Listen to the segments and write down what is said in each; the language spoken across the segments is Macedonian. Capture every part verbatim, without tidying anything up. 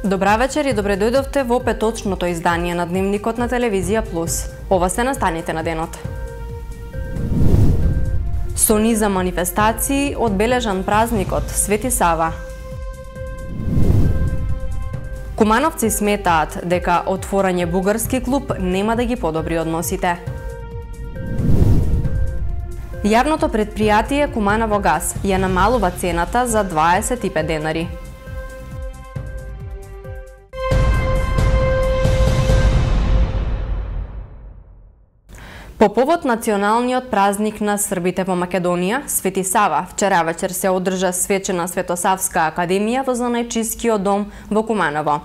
Добра вечер и добре дојдовте во петочното издание на Дневникот на Телевизија Плюс. Ова се настаните на денот. Со низа манифестации одбележан празникот Свети Сава. Кумановци сметаат дека отворање бугарски клуб нема да ги подобри односите. Јавното предпријатие Куманово газ ја намалува цената за дваесет и пет денари. По повод националниот празник на србите во Македонија, Свети Сава, вчера вечер се одржа свечена Светосавска академија во Занајчискиот дом во Куманово.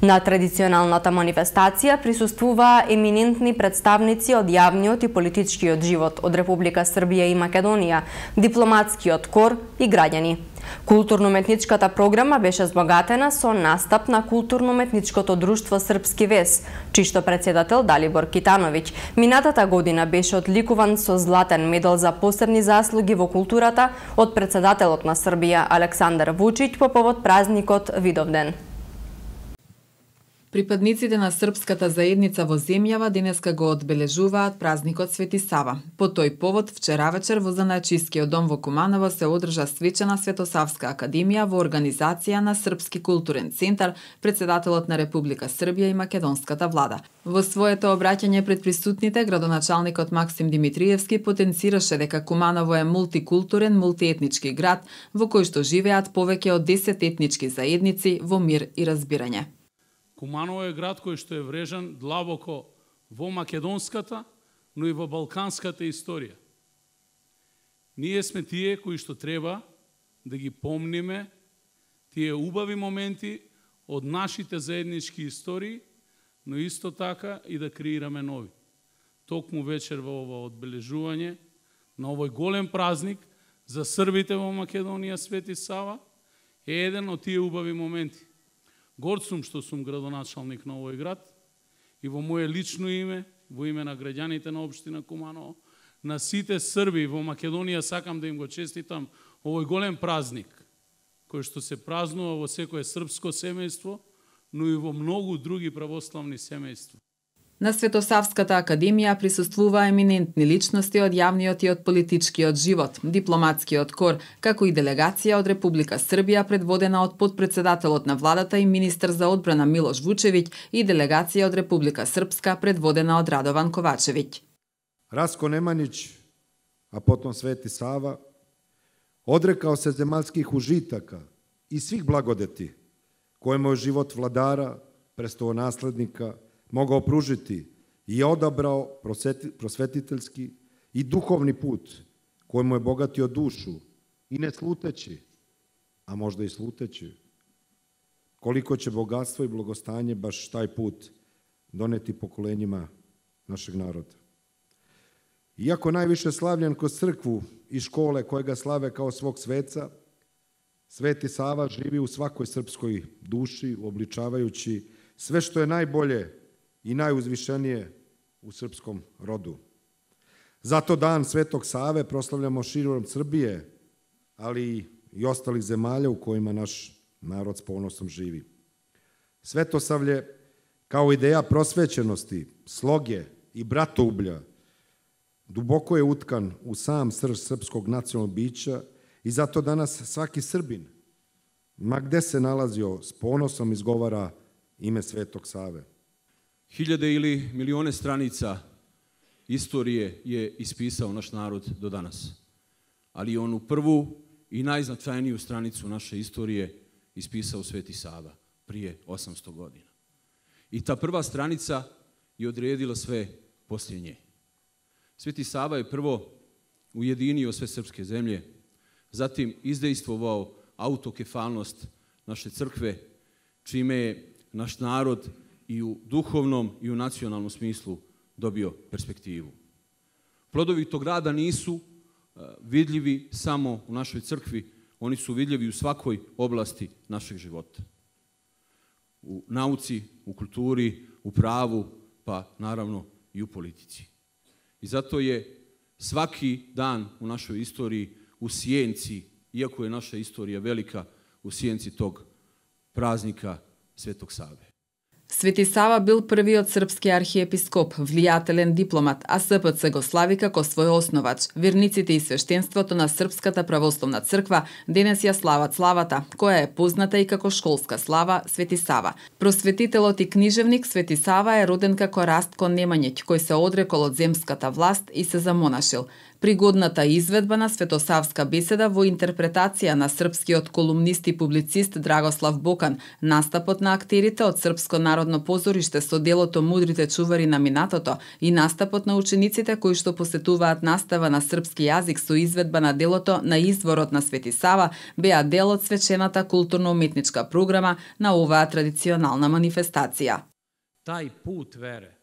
На традиционалната манифестација присуствуваа еминентни представници од јавниот и политичкиот живот од Република Србија и Македонија, дипломатскиот кор и граѓани. Културно-уметничката програма беше збогатена со настап на Културно-уметничкото друштво Српски вес, чишто председател Далибор Китановиќ минатата година беше одликуван со златен медал за посебни заслуги во културата од председателот на Србија Александар Вучиќ по повод празникот Видовден. Припадниците на српската заедница во земјава денеска го одбележуваат празникот Свети Сава. По тој повод, вчера вечер во Занајчискиот дом во Куманово се одржа свечена Светосавска академија во организација на Српски културен центар, председателот на Република Србија и македонската влада. Во своето обраќање пред присутните, градоначалникот Максим Димитриевски потенцираше дека Куманово е мултикултурен, мултиетнички град во кој што живеат повеќе од десет етнички заедници во мир и разбирање. Куманово е град кој што е врежан длабоко во македонската, но и во балканската историја. Ние сме тие кои што треба да ги помниме тие убави моменти од нашите заеднички истории, но исто така и да креираме нови. Токму вечер во ова одбележување на овој голем празник за србите во Македонија Свети Сава е еден од тие убави моменти. Горд сум што сум градоначалник на овој град и во моје лично име, во име на граѓаните на општина Куманово, на сите срби во Македонија сакам да им го честитам овој голем празник, кој што се празнува во секое српско семејство, но и во многу други православни семејства. На Светосавската академија присуствуваа еминентни личности од јавниот и од политичкиот живот, дипломатскиот кор, како и делегација од Република Србија предводена од потпредседателот на владата и министер за одбрана Милош Вучевиќ и делегација од Република Српска предводена од Радован Ковачевиќ. Раско Неманиć, а потом Свети Сава, одрекао се земјалских ужитака и свих благодети кој мој живот владара, престолонаследника, могao pružiti i je odabrao prosvetiteljski i duhovni put koji mu je bogatio dušu i ne sluteći, a možda i sluteći, koliko će bogatstvo i blagostanje baš taj put doneti pokolenjima našeg naroda. Iako najviše slavljen kroz crkvu i škole koje ga slave kao svog sveca, Sveti Sava živi u svakoj srpskoj duši, obličavajući sve što je najbolje i najuzvišenije u srpskom rodu. Zato dan Svetog Save proslavljamo širom Srbije, ali i ostalih zemalja u kojima naš narod s ponosom živi. Svetosavlje kao ideja prosvećenosti, sloge i bratoublja duboko je utkan u sam srž srpskog nacionalnog bića i zato danas svaki Srbin, ma gde se nalazio, s ponosom izgovara ime Svetog Save. Hiljade ili milione stranica istorije je ispisao naš narod do danas. Ali onu prvu i najznačajniju stranicu naše istorije ispisao Sveti Sava prije osamsto godina. I ta prva stranica je odredila sve poslije nje. Sveti Sava je prvo ujedinio sve srpske zemlje, zatim izdejstvovao autokefalnost naše crkve, čime je naš narod i u duhovnom i u nacionalnom smislu dobio perspektivu. Plodovi tog rada nisu vidljivi samo u našoj crkvi, oni su vidljivi u svakoj oblasti našeg života. U nauci, u kulturi, u pravu, pa naravno i u politici. I zato je svaki dan u našoj istoriji u sjenci, iako je naša istorija velika, u sjenci tog praznika Светог Саве. Свети Сава бил првиот српски архиепископ, влијателен дипломат, а С П Ц го слави како свој основач. Верниците и свештенството на Српската православна црква денес ја слават славата, која е позната и како школска слава Свети Сава. Просветителот и книжевник Свети Сава е роден како Растко Немањеќ, кој се одрекол од земската власт и се замонашил. Пригодната изведба на Светосавска беседа во интерпретација на српскиот колумнист и публицист Драгослав Бокан, настапот на актерите од Српско народно позориште со делото Мудрите чувари на минатото и настапот на учениците кои што посетуваат настава на српски јазик со изведба на делото На изворот на Свети Сава беа дел од свечената културно-уметничка програма на оваа традиционална манифестација. Тај пут вере,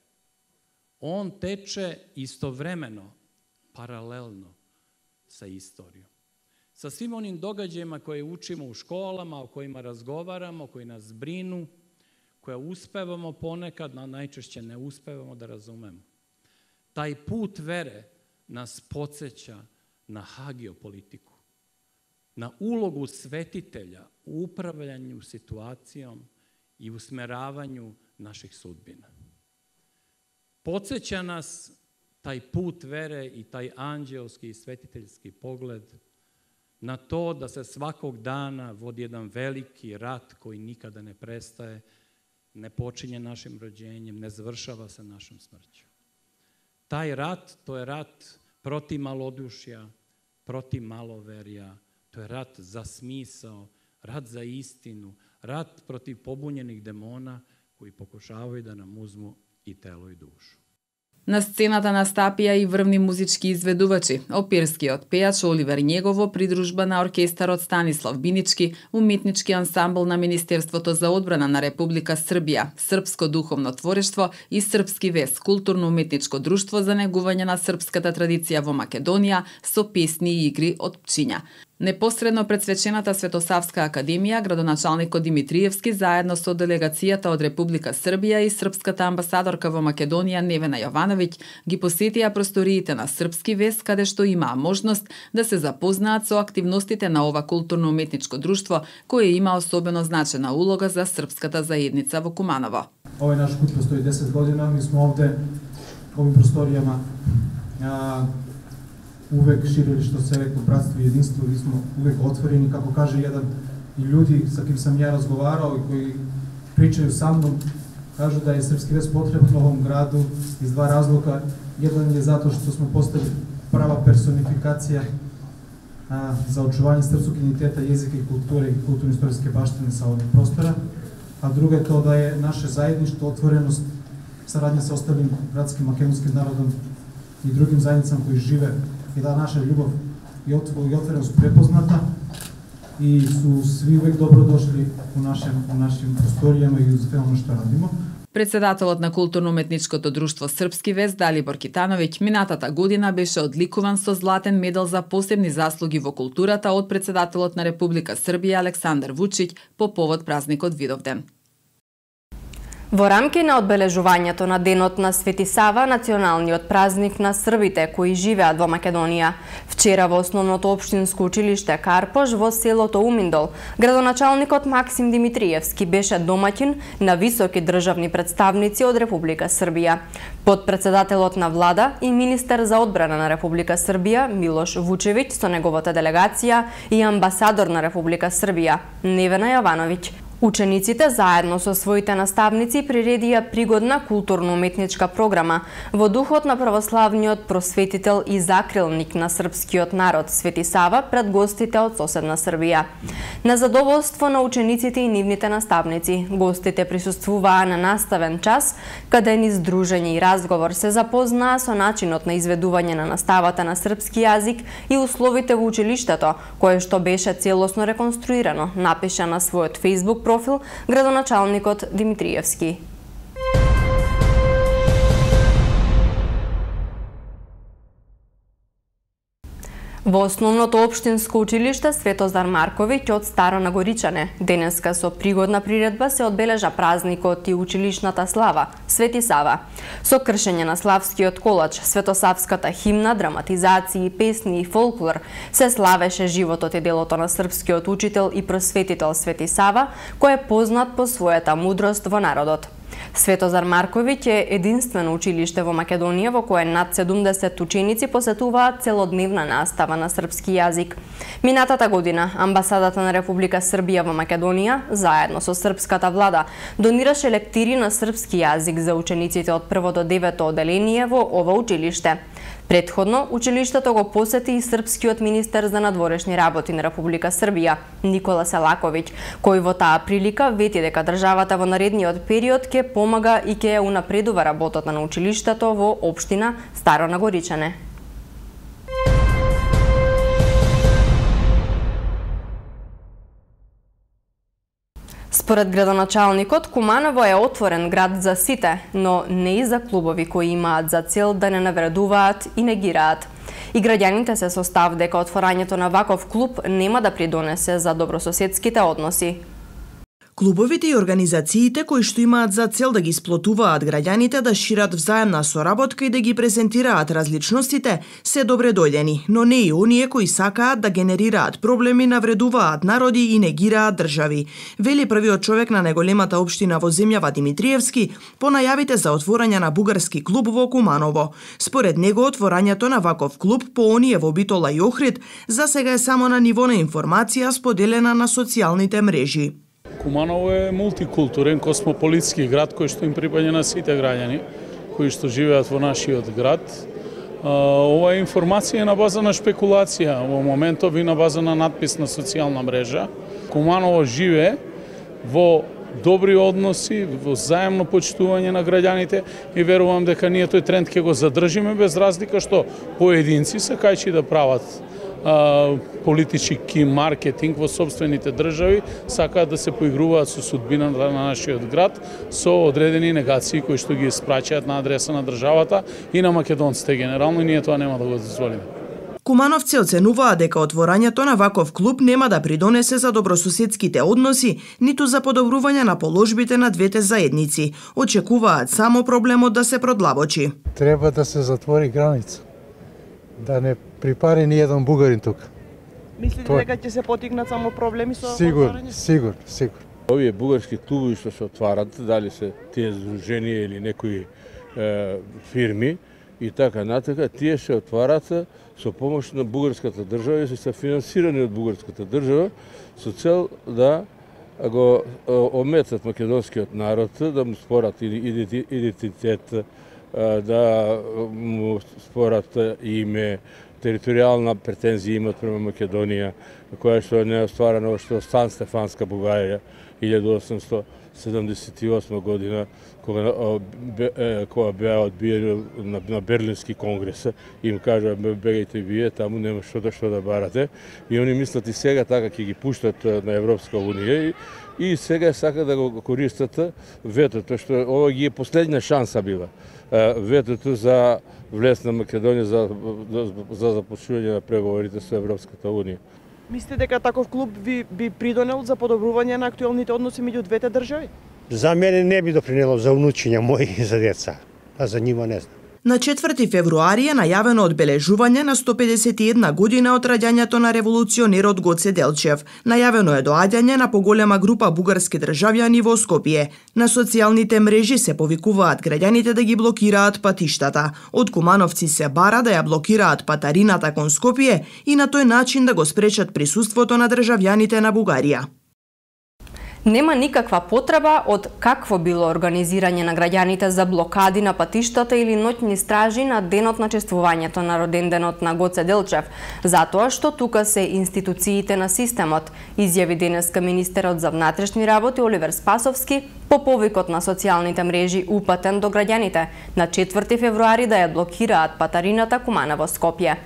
он тече истовремено, паралелно sa istorijom. Sa svim onim događajima koje učimo u školama, o kojima razgovaramo, koji nas brinu, koje uspevamo ponekad, a najčešće ne uspevamo da razumemo. Taj put vere nas podsjeća na hagiopolitiku, na ulogu svetitelja u upravljanju situacijom i usmeravanju naših sudbina. Podsjeća nas taj put vere i taj anđelski i svetiteljski pogled na to da se svakog dana vodi jedan veliki rat koji nikada ne prestaje, ne počinje našim rođenjem, ne završava se našom smrću. Taj rat, to je rat protiv malodušja, protiv maloverja, to je rat za smisao, rat za istinu, rat protiv pobunjenih demona koji pokušavaju da nam uzmu i telo i dušu. На сцената настапија и врвни музички изведувачи, оперскиот пејач Оливер Његов во придружба на оркестарот Станислав Бинички, уметнички ансамбл на Министерството за одбрана на Република Србија, Српско духовно творештво и Српски вес, културно-уметничко друштво за негување на српската традиција во Македонија со песни и игри од пчиња. Непосредно пред свечената Светосавска академија, градоначалникот Димитриевски заедно со делегацијата од Република Србија и српската амбасадорка во Македонија Невена Јовановиќ ги посетија просториите на Српски вес, каде што имаа можност да се запознаат со активностите на ова културно-уметничко друштво, кое има особено значена улога за српската заедница во Куманово. Овој наш куп постои десет година, ми сме овде овим просторијама а, увек ширили што се реко братство и единство, и сме увек отворени, како каже еден и луѓи со ким сам ја разговарал и кои причају со мном, кажу да е Српски вес потребен овом граду из два разлога. Еден е затоа што сме постали права персонификација а, за очување српскog идентитета, језика и култура и културно-историски баштини са овој простора, а друго е тоа да е наше заедништво, отвореност, сарадња со осталим братским македонским народом и другим заедницам кои живе, и да наша љубов и отвореност препозната и су сви увек добродошли у нашем у нашим просторијама и за тоа што радимо. Председателот на културно-уметничкото друштво Српски вес Далибор Китановиќ минатата година беше одликуван со златен медал за посебни заслуги во културата од председателот на Република Србија Александар Вучиќ по повод празникот Видовден. Во рамки на одбележувањето на Денот на Свети Сава, националниот празник на србите кои живеат во Македонија, вчера во основното општинско училиште Карпош во селото Уминдол, градоначалникот Максим Димитриевски беше домаќин на високи државни представници од Република Србија. Подпредседателот на влада и министер за одбрана на Република Србија Милош Вучевиќ со неговата делегација и амбасадор на Република Србија Невена Јовановиќ. Учениците заедно со своите наставници приредија пригодна културно-уметничка програма во духот на православниот просветител и закрилник на српскиот народ Свети Сава пред гостите од соседна Србија. На задоволство на учениците и нивните наставници, гостите присуствуваа на наставен час, каде низ дружење и разговор се запознаа со начинот на изведување на наставата на српски јазик и условите во училиштето, кое што беше целосно реконструирано, напиша на својот Facebook профил градоначалникот Димитриевски. Во основното општинско училиште Светозар Марковиќ од Старо Нагоричане денеска со пригодна приредба се одбележа празникот и училишната слава Свети Сава. Со кршење на славскиот колач, светосавската химна, драматизации, песни и фолклор се славеше животот и делото на српскиот учител и просветител Свети Сава, кој е познат по својата мудрост во народот. Светозар Марковиќ е единствено училиште во Македонија во кое над седумдесет ученици посетуваат целодневна настава на српски јазик. Минатата година амбасадата на Република Србија во Македонија, заедно со српската влада, донираше лектири на српски јазик за учениците од прво до девето оделение во ова училиште. Претходно, училиштето го посети и српскиот министер за надворешни работи на Република Србија, Никола Селаковиќ, кој во таа прилика вети дека државата во наредниот период ќе помага и ќе ја унапредува работата на училиштето во општина Старо Нагоричане. Според градоначалникот, Куманово е отворен град за сите, но не и за клубови кои имаат за цел да не навредуваат и негираат. И граѓаните се со став дека отворањето на ваков клуб нема да придонесе за добрососедските односи. Клубовите и организациите кои што имаат за цел да ги сплотуваат граѓаните, да шират взаемна соработка и да ги презентираат различностите, се добре дојдени, но не и оние кои сакаат да генерираат проблеми, навредуваат народи и негираат држави, вели првиот човек на најголемата општина во земјава Димитриевски по најавите за отворање на бугарски клуб во Куманово. Според него, отворањето на ваков клуб по оние во Битола и Охрид за сега е само на ниво на информација споделена на социјалните мрежи. Куманово е мултикултурен, космополитски град кој што им припаѓа на сите граѓани кои што живеат во нашиот град. Ова информација е на база на шпекулација, во моментов и на база на надпис на социјална мрежа. Куманово живее во добри односи, во заемно почитување на граѓаните и верувам дека ние тој тренд ќе го задржиме без разлика што поединци се кајчи да прават политички маркетинг во собствените држави, сакаат да се поигруваат со судбината на нашиот град со одредени негации кои што ги испраќаат на адреса на државата и на македонците генерално, и ние тоа нема да го дозволиме. Кумановци оценуваат дека отворањето на ваков клуб нема да придонесе за добрососедските односи, ниту за подобрување на положбите на двете заедници. Очекуваат само проблемот да се продлабочи. Треба да се затвори граница, да не припари ни еден бугарин тука. Мислите Тоа... дека ќе се потигнат само проблеми со Сигурно, сигурно, сигурно. Овие бугарски клубови што се отварат, дали се тие здруженија или некои е, фирми и така натака, тие се отварат со помош на бугарската држава и се финансирани од бугарската држава со цел да го ометат македонскиот народ, да му спорат идентитет, да му спорат име, територијална претензија имат према Македонија, која што не е остварена што Сан Стефанска Бугарија илјада осумстото седамдесет и осма година, кога, кога беа одбиени на, на Берлински конгрес, им кажа бегајте вие, таму нема што да што да барате. И они мислат и сега така ќе ги пуштат на Европска унија и, и сега сака да го користат ветото, што ова ги е последна шанса била. Ветото за влез на Македонија за, за започнување на преговорите со Европската унија. Мислите дека таков клуб би, би придонел за подобрување на актуелните односи меѓу двете држави? За мене не би допринело за унучиња мои и за деца, а за нима не знам. На четврти февруари е најавено одбележување на сто педесет и една година од раѓањето на револуционерот Гоце Делчев. Најавено е доаѓање на поголема група бугарски државјани во Скопје. На социјалните мрежи се повикуваат граѓаните да ги блокираат патиштата. Од кумановци се бара да ја блокираат патарината кон Скопје и на тој начин да го спречат присуството на државјаните на Бугарија. Нема никаква потреба од какво било организирање на граѓаните за блокади на патиштата или ноќни стражи на денот на чествувањето на роденденот на Гоце Делчев, затоа што тука се институциите на системот, изјави денеска министерот за внатрешни работи Оливер Спасовски по повикот на социјалните мрежи упатен до граѓаните на четврти февруари да ја блокираат патарината Куманово Скопје.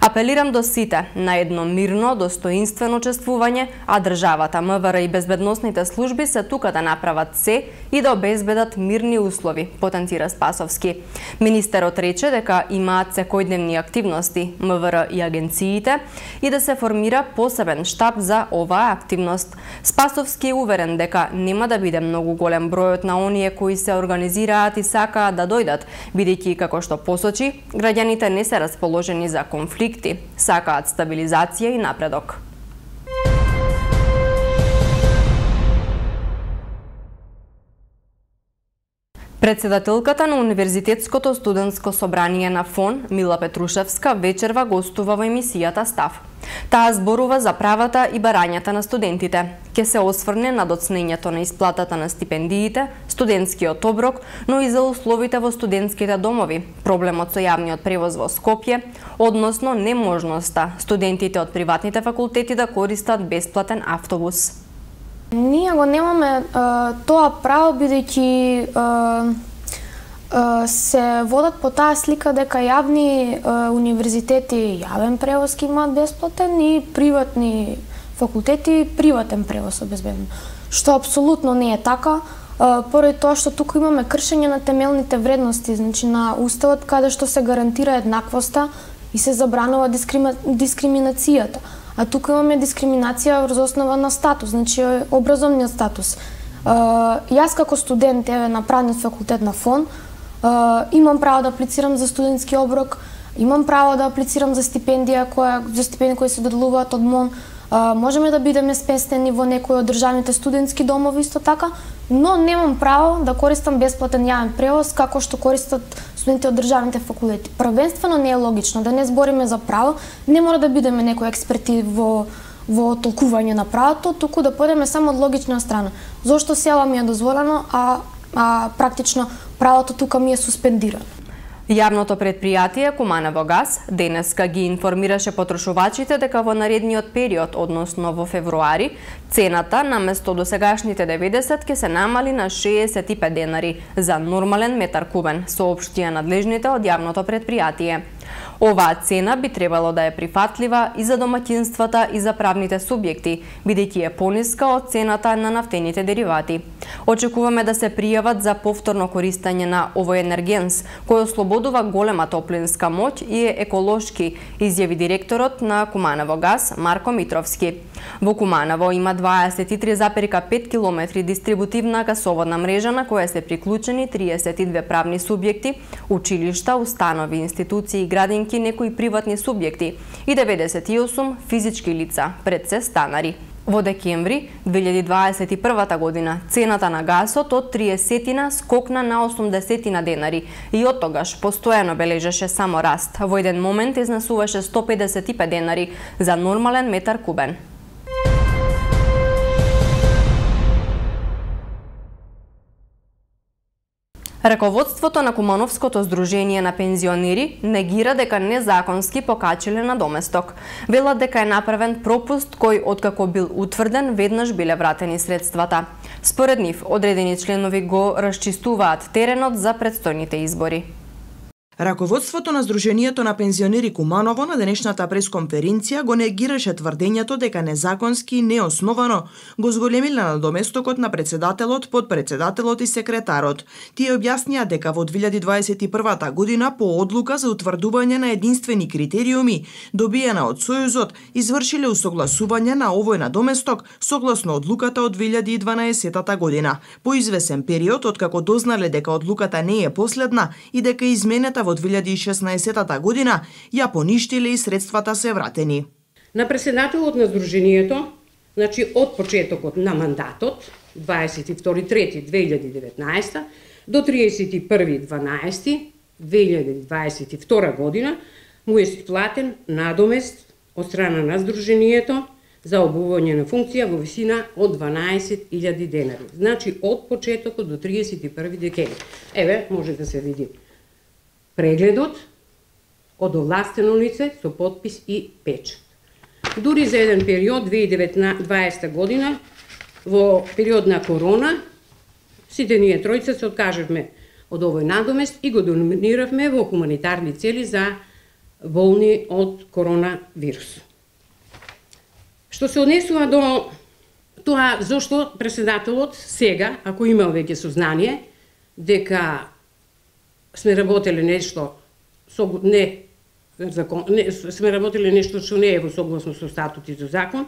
Апелирам до сите на едно мирно, достоинствено чествување, а државата, МВР и безбедносните служби се тука да направат се и да обезбедат мирни услови, потенцира Спасовски. Министерот рече дека имаат секојдневни активности, МВР и агенциите, и да се формира посебен штаб за оваа активност. Спасовски е уверен дека нема да биде многу голем бројот на оние кои се организираат и сакаат да дојдат, бидејќи, како што посочи, граѓаните не се расположени за конфликти, сакаат стабилизација и напредок. Председателката на Универзитетското студентско собрание на ФОН, Мила Петрушевска, вечерва гостува во емисијата Став. Таа зборува за правата и барањата на студентите. Ке се осврне на доцнењето на исплатата на стипендиите, студентскиот оброк, но и за условите во студентските домови, проблемот со јавниот превоз во Скопје, односно неможноста студентите од приватните факултети да користат бесплатен автобус. Ние го немаме а, тоа право, бидејќи а, а, се водат по таа слика дека јавни а, универзитети јавен превоз имаат бесплатен и приватни факултети приватен превоз обезбеден. Што апсолутно не е така, а, поради тоа што тука имаме кршење на темелните вредности, значи на уставот каде што се гарантира еднаквоста и се забранува дискрими... дискриминацијата. А тука имаме дискриминација врз основа на статус, значи образовниот статус. Uh, јас како студент еве на правниот факултет на ФОН uh, имам право да аплицирам за студентски оброк, имам право да аплицирам за стипендија која за стипендии кои се доделуваат од МОН. Uh, можеме да бидеме сместени во некои од државните студентски домови исто така, но немам право да користам бесплатен јавен превоз како што користат студенти од државните факултети. Првенствено не е логично да не збориме за право, не мора да бидеме некои експерти во во толкување на правото, туку да појдеме само од логична страна. Зошто села ми е дозволено, а а практично правото тука ми е суспендирано. Јавното предпријатие Куманово газ денеска ги информираше потрошувачите дека во наредниот период, односно во февруари, цената наместо досегашните деветдесет ќе се намали на шеесет и пет денари за нормален метар кубен, соопштија надлежните од јавното предпријатие. Оваа цена би требало да е прифатлива и за домаќинствата и за правните субјекти, бидејќи е пониска од цената на нафтените деривати. Очекуваме да се пријават за повторно користење на овој енергенс, кој ослободува голема топлинска моќ и е еколошки, изјави директорот на Куманово газ Марко Митровски. Во Куманово има дваесет и три запирка пет километри дистрибутивна гасоводна мрежа на која се приклучени триесет и две правни субјекти, училишта, установи, институции, градинки, некои приватни субјекти и деветдесет и осум физички лица, пред се станари. Во декември две илјади дваесет и прва година цената на гасот од триесетина скокна на осумдесетина денари и од тогаш постојано бележеше само раст. Во еден момент изнесуваше сто педесет и пет денари за нормален метар кубен. Раководството на Кумановското здружение на пензионери негира дека незаконски покачиле на доместок. Велат дека е направен пропуст кој откако бил утврден веднаш биле вратени средствата. Според нив, одредени членови го расчистуваат теренот за предстојните избори. Раководството на Здруженијето на пензионери Куманово на денешната пресконференција го негираше тврдењето дека незаконски и неосновано го зголемиле надоместокот на председателот, подпредседателот и секретарот. Тие објаснија дека во две илјади дваесет и прва година по одлука за утврдување на единствени критериуми добиена од Сојузот извршиле усогласување на овој надоместок согласно одлуката од две илјади и дванаесета година. По извесен период откако дознале дека одлуката не е последна и дека изменета во две илјади и шеснаесета година, ја поништиле и средствата се вратени. На председателот на Здруженијето, значи од почетокот на мандатот, дваесет и втори трети две илјади и деветнаесета до триесет и први дванаести две илјади дваесет и втора година, му е сплатен надомест од страна на Здруженијето за обување на функција во висина од дванаесет илјади денари. Значи од почетокот до триесет и први декември. Еве, може да се види прегледот од овластено лице со потпис и печат. Дури за еден период, две илјади и дваесета година, во период на корона, сите ние тројца се откажавме од овој надомест и го доминиравме во хуманитарни цели за болни од коронавирус. Што се однесува до тоа зошто председателот сега, ако имал веќе сознание дека сме работеле нешто со не закон, не, сме работеле нешто што не е во согласно со статут и со закон,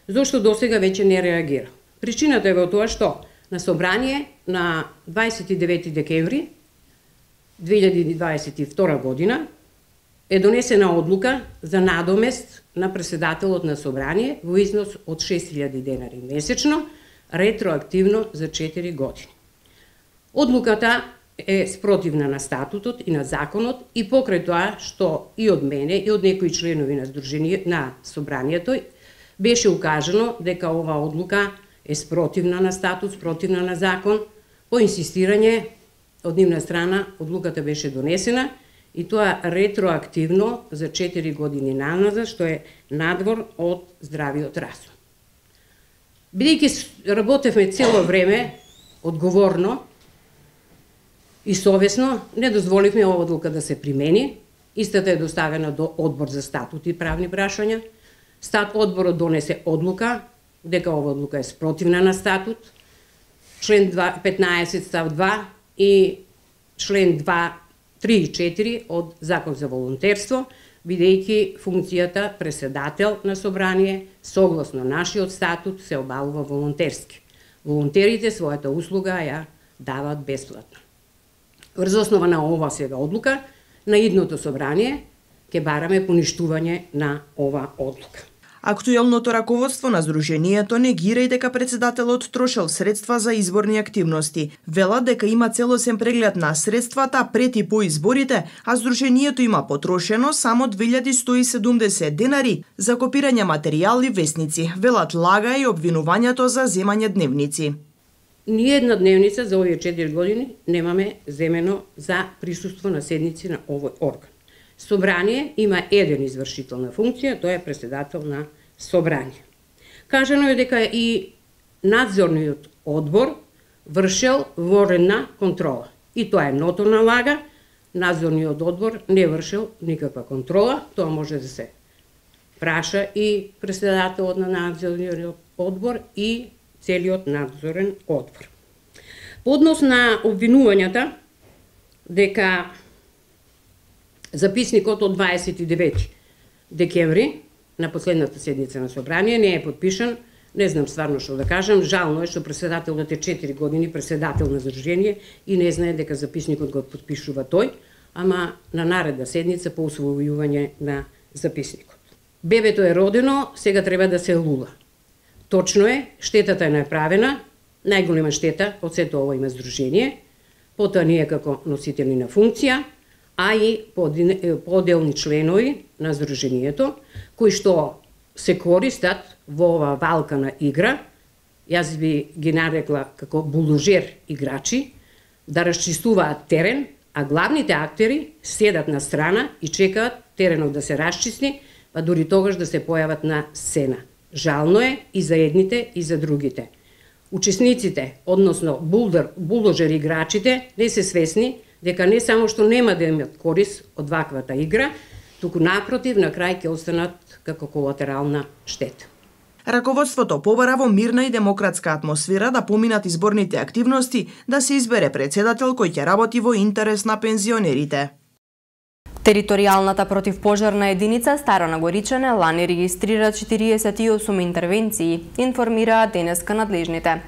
зошто досега веќе не реагира. Причината е во тоа што на собрание на дваесет и девети декември две илјади дваесет и втора година е донесена одлука за надомест на председателот на собрание во износ од шест илјади денари месечно, ретроактивно за четири години. Одлуката е спротивна на статутот и на законот и покрај тоа што и од мене и од некои членови на Сдружение на собранието беше укажано дека ова одлука е спротивна на статут, спротивна на закон. По инсистирање од нивна страна одлуката беше донесена и тоа ретроактивно за четири години наназад, што е надвор од здравиот разум. Бидејќи работевме цело време одговорно и совесно, не дозволивме ова одлука да се примени. Истата е доставена до Одбор за статут и правни прашања. Стат одборот донесе одлука дека ова одлука е спротивна на статут, член петнаесет став два и член два, три и четири од Закон за волонтерство, бидејќи функцијата председател на собрание согласно нашиот статут се обавува волонтерски. Волонтерите својата услуга ја даваат бесплатно. Врз основа на ова сега одлука, на идното собрание ќе бараме поништување на ова одлука. Актуелното раководство на Сдруженијето негира и дека председателот трошел средства за изборни активности. Велат дека има целосен преглед на средствата пред и по изборите, а Сдруженијето има потрошено само две илјади сто и седумдесет денари за копирање материјал и весници. Велат лага и обвинувањето за земање дневници. Ни една дневница за овие четири години немаме земено за присуство на седници на овој орган. Собрание има еден извршител на функција, тој е председател на собрание. Кажано е дека и надзорниот одбор вршел воредна контрола. И тоа е ноторна лага, надзорниот одбор не вршел никаква контрола, тоа може да се праша и председателот на надзорниот одбор и целиот надзорен одбор. По однос на обвинувањата дека записникот од дваесет и девети декември на последната седница на собрание не е подпишан, не знам стварно што да кажам, жално е што председателот е четири години председател на Сдружение и не знае дека записникот го подпишува тој, ама на наредна седница по усвојување на записникот. Бебето е родено, сега треба да се лула. Точно е, штетата е направена, најголема штета од сето ова има Сдружение, потоа ние како носители на функција, а и поделни членови на Сдруженијето, кои што се користат во ова валкана игра, јас би ги нарекла како булужер играчи, да расчистуваат терен, а главните актери седат на страна и чекаат теренот да се расчисти, па дури тогаш да се појават на сцена. Жално е и за едните и за другите. Учесниците, односно булдожер играчите, не се свесни дека не само што нема да имат корис од ваквата игра, туку напротив, на крај ќе останат како колатерална штета. Раководството побара во мирна и демократска атмосфера да поминат изборните активности, да се избере председател кој ќе работи во интерес на пензионерите. Територијалната противпожарна единица Стара Горичане лани регистрира четириесет и осум интервенции, информираа денеска надлежните.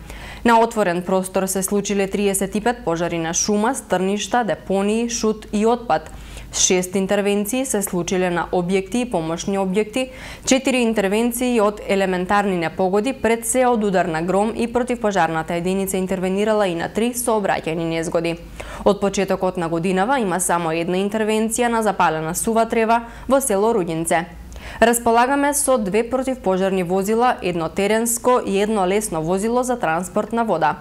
На отворен простор се случиле триесет и пет пожари на шума, стрништа, депонии, шут и отпад. Шест интервенции се случиле на објекти и помошни објекти, четири интервенции од елементарни непогоди, пред се од удар на гром и противпожарната единица интервенирала и на три сообраќајни незгоди. Од почетокот на годинава има само една интервенција на запалена сува трева во село Рудинце. Располагаме со две противпожарни возила, едно теренско и едно лесно возило за транспорт на вода.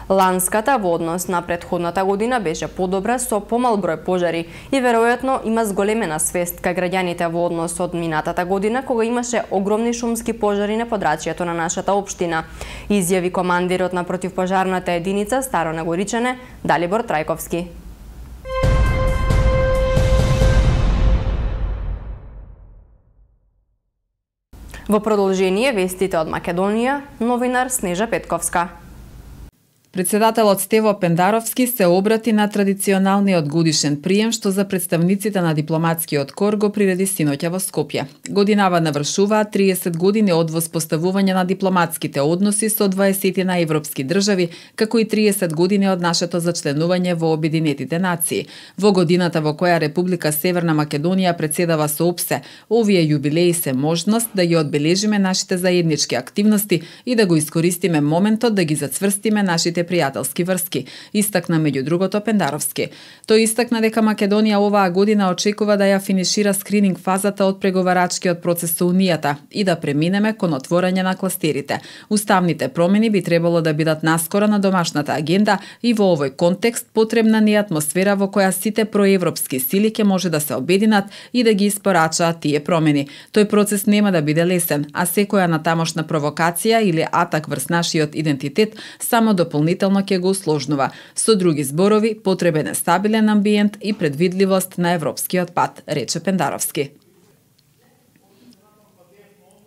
Ланската во однос на претходната година беше подобра со помал број пожари и веројатно има зголемена свест кај граѓаните во однос од минатата година кога имаше огромни шумски пожари на подрачјето на нашата општина, изјави командирот на противпожарната единица Старо Горичане Далибор Трајковски. Во продолжение вестите од Македонија, новинар Снежа Петковска. Председателот Стево Пендаровски се обрати на традиционалниот годишен прием што за представниците на дипломатскиот кор го приреди синоќа во Скопје. Годинава навршуваат триесет години од воспоставување на дипломатските односи со дваесет на европски држави, како и триесет години од нашето зачленување во Обединетите нации. Во годината во која Република Северна Македонија председава со ОПСЕ, овие јубилеи се можност да ги одбележиме нашите заеднички активности и да го искористиме моментот да ги зацврстиме нашите пријателски врски, истакна меѓу другото Пендаровски. Тој истакна дека Македонија оваа година очекува да ја финишира скрининг фазата од преговарачкиот процес со Унијата и да преминеме кон отворање на кластерите. Уставните промени би требало да бидат наскоро на домашната агенда и во овој контекст потребна ни атмосфера во која сите проевропски сили ќе може да се обединат и да ги испорачаат тие промени. Тој процес нема да биде лесен, а секоја натамошна провокација или атак врз нашиот идентитет само дополнително ќе го усложнува. Со други зборови, потребен е стабилен амбиент и предвидливост на европскиот пат, рече Пендаровски.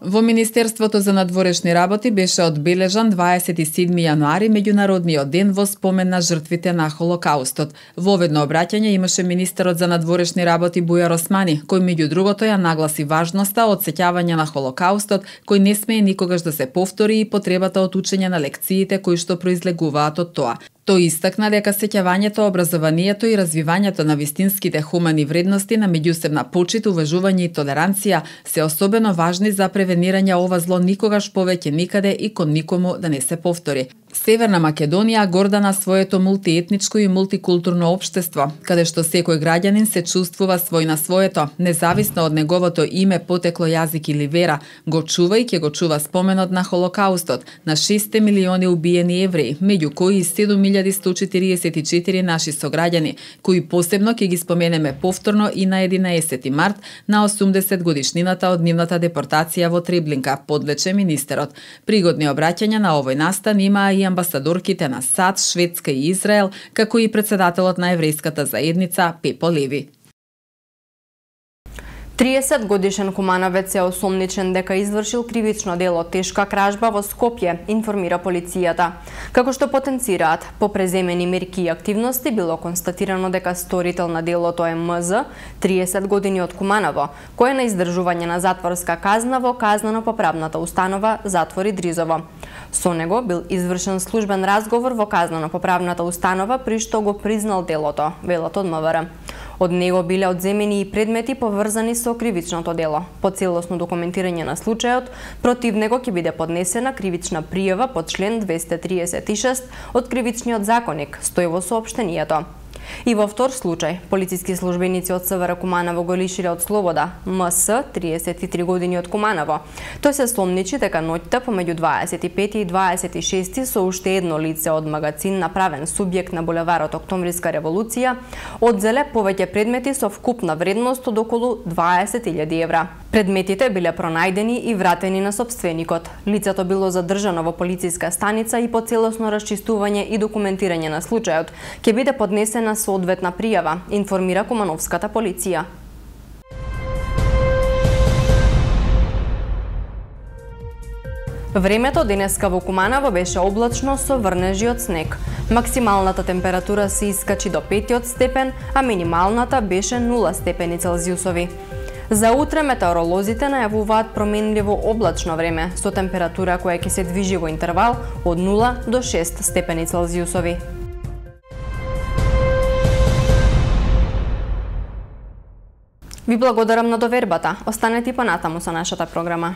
Во Министерството за надворешни работи беше одбележан дваесет и седми јануари меѓународниот ден во спомен на жртвите на Холокаустот. Во ведно обраќање имаше министерот за надворешни работи Бујар Османи, кој меѓу другото ја нагласи важноста од сеќавање на Холокаустот, кој не смее никогаш да се повтори и потребата од учење на лекциите кои што произлегуваат од тоа. Тој истакна дека сеќавањето, образованието и развивањето на вистинските хумани вредности на меѓусебна почит, уважување и толеранција се особено важни за превенирање ова зло никогаш повеќе никаде и кон никому да не се повтори. Северна Македонија горда на своето мултиетничко и мултикултурно општество, каде што секој граѓанин се чувствува свој на своето, независно од неговото име, потекло, јазик или вера, го чува и ќе го чува споменот на Холокаустот, на шест милиони убиени евреи, меѓу кои и седум илјади сто четириесет и четири наши сограѓани, кои посебно ќе ги споменеме повторно и на единаесети март, на осумдесет годишнината од нивната депортација во Треблинка, подлече министерот. Пригодни обраќања на овој настан имаа и амбасадорките на САД, Шведска и Израел, како и председателот на еврејската заедница Пепо Леви. триесет годишен кумановец е осомничен дека извршил кривично дело тешка кражба во Скопје, информира полицијата. Како што потенцираат по преземени мерки и активности, било констатирано дека сторител на делото е М З, триесет години од Куманово, кој е на издржување на затворска казна во казнено-поправната установа Затвори Дризово. Со него бил извршен службен разговор во казнено-поправната установа при што го признал делото, велат од М В Р. Од него биле одземени и предмети поврзани со кривичното дело. По целосно документирање на случајот, против него ќе биде поднесена кривична пријава по член двесте триесет и шест од Кривичниот законник, стои во соопштението. И во втор случај, полициски службеници од С В Р Куманово го лишиле од слобода М С, триесет и три години од Куманово. Тој се сомничи дека ноќта помеѓу дваесет и пети и дваесет и шести со уште едно лице од магацин направен субјект на булеварот Октомвриска револуција, одзеле повеќе предмети со вкупна вредност од околу дваесет илјади евра. Предметите биле пронајдени и вратени на собственикот. Лицето било задржано во полициска станица и по целосно расчистување и документирање на случајот ќе биде поднесена соодветна пријава, информира Кумановската полиција. Времето денеска во Куманово беше облачно со врнежи од снег. Максималната температура се искачи до петиот степен, а минималната беше нула степени Целзиусови. За утре метеоролозите најавуваат променливо облачно време со температура која ќе се движи во интервал од нула до шест степени Целзиусови. Ви благодарам на довербата. Останете и понатаму со нашата програма.